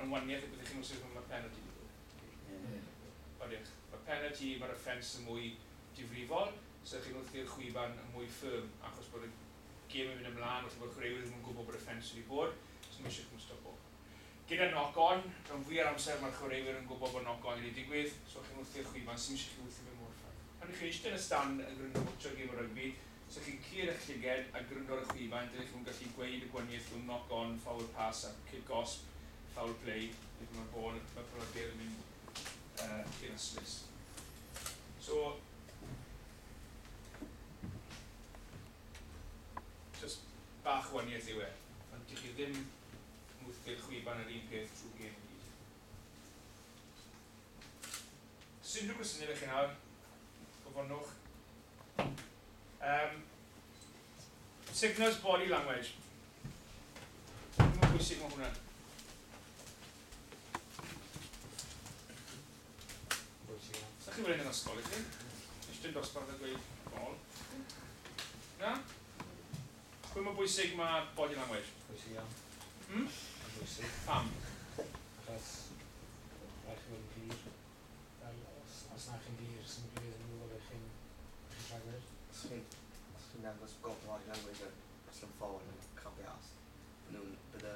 Mae'n waniaeth y byddwch chi'n wthio pan mae penalty wedi bod. Odych. Mae penalty, mae'r offence yn mwy difrifol, so chi'n wthio'r chwiban yn mwy firm, achos bod y gêm yn mynd ymlaen, falle bod chwaraewyr ddim yn gwybod bod offence wedi bod, so mae eisiau chi'n stopo. Gyda knock-on, rhan fwyaf amser mae'r chwaraewyr yn gwybod bod knock-on wedi digwydd, so chi'n wthio'r chwiban, sy'n eisiau chi wthio fe mor firm. Pan ych chi'n eistedd yn y stand yn gwrando watcho gêm o rygbi, so chi'n cur eich llyged a gwrando ar y chwiban, dydych chi'n gallu gweud y gwahaniaeth rhwng knock-on, forward pass a cic gosb, foul play, neu mae'r ball, mae'r bêl yn mynd i'r ystlys. So, just bach o waniaeth yw e, ond dych chi ddim yn wthio'r chwiban yr un peth trwy gêm i gyd. Os unrhyw gwestiynau ydych chi nawr, gofynnwch. Signals body language. Mae'n bwysig mae hwnna. Bwysig iawn. Sa chi fel un yn ysgol i chi? Eistedd dosbarth a gweud bol. Na? Pwy mor bwysig mae body language? Bwysig iawn. Mae'n bwysig. Pam? Achos rhaid chi fod yn glir. Fel, os na chi'n glir, sy'n glir yn gwybod beth chi'n rhagwyr. Os chi'n dangos got body language a slim forward and can't be asked, bydde